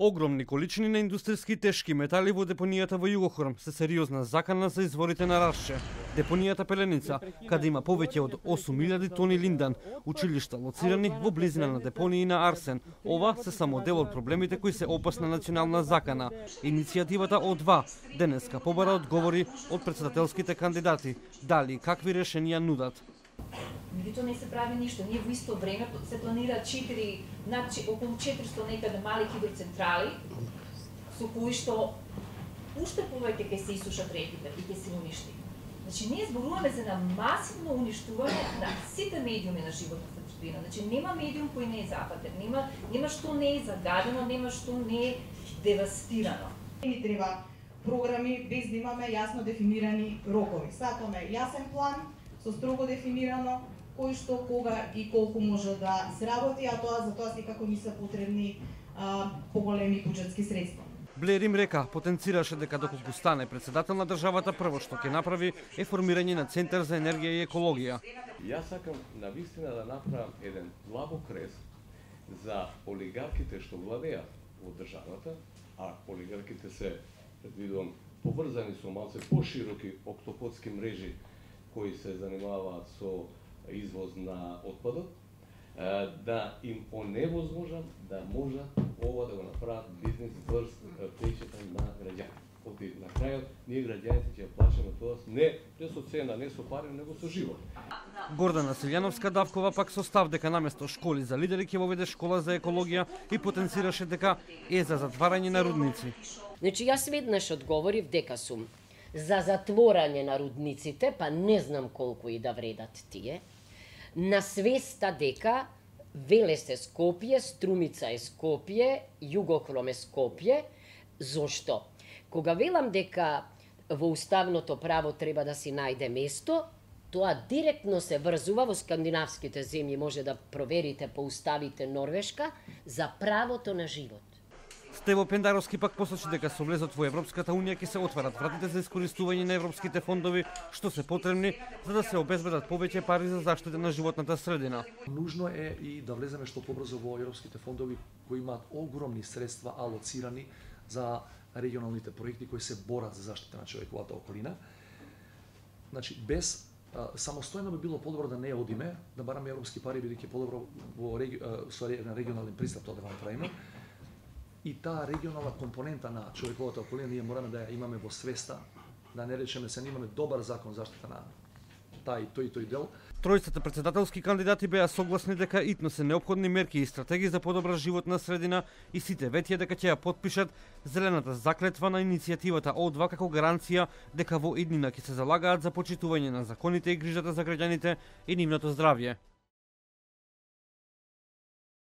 Огромни количини на индустријски тешки метали во депонијата во Југохром се сериозна закана за изворите на Рашче. Депонијата Пеленица, каде има повеќе од 8000 тони линдан, училишта лоцирани во близина на депонии на арсен. Ова се само дел од проблемите кои се опасна национална закана. Иницијативата О2 денеска побара одговори од претседателските кандидати, дали какви решенија нудат. Меѓутоа не се прави ништо. Ние во исто време се планира околу 400 некаде мали хидроцентрали, со кои што уште повеќе ќе се исушат реките и ќе се уништи. Значи, ние зборуваме за на масивно уништување на сите медиуми на животната средина. Значи, нема медиум кој не е западен, нема што не е загадено, нема што не е девастирано. Ни треба програми без да имаме јасно дефинирани рокови. Сакаме јасен план со строго дефинирано кој што, кога и колку може да се работи, а за тоа секако ни се потребни поголеми буџетски средства. Блер им река, потенцираше дека доколку стане претседател на државата, прво што ќе направи е формирање на Центар за енергија и екологија. Јас сакам навистина да направам еден длабок крест за олигарките што владеат во државата, а олигарките се, предвидувам, поврзани со малце пошироки октоподски мрежи кои се занимаваат со извоз на отпадот, да им оневозможам да можат ова да го направат бизнес врз плеќата на граѓаните. На крајот, ние граѓаните ќе плачеме тоа не со цена, не со пари, него со живот. Гордана Силјановска-Давкова пак со став дека наместо школи за лидери ќе воведе школа за екологија и потенцираше дека е за затварање на рудници. Значи, јас веднаш одговорив дека сум за затворање на рудниците, па не знам колку и да вредат тие, на свеста дека Велес е Скопје, Струмица е Скопје, Југохром е Скопје. Зошто? Кога велам дека во уставното право треба да си најде место, тоа директно се врзува во скандинавските земји, може да проверите по уставите Норвешка, за правото на живот. Стево Пендаровски пак посочи дека со влезот во Европската унија ќе се отварат вратите за искористување на европските фондови, што се потребни за да се обезбедат повеќе пари за заштита на животната средина. Нужно е и да влеземе што побрзо во европските фондови кои имаат огромни средства алоцирани за регионалните проекти кои се борат за заштита на човековата околина. Значи, без самостојно би било подобро да не одиме, да бараме европски пари, бидејќи подобро со регионален пристап тоа да го направиме. И таа регионална компонента на човековата околина ние мораме да ја имаме во свеста, да не речеме се имаме добар закон заштита на тој дел. Тројцата претседателски кандидати беа согласни дека итно се неопходни мерки и стратегии за подобра животна средина и сите ветија дека ќе ја потпишат зелената заклетва на иницијативата О2 како гаранција дека во иднина ќе се залагаат за почитување на законите и грижата за граѓаните и нивното здравје.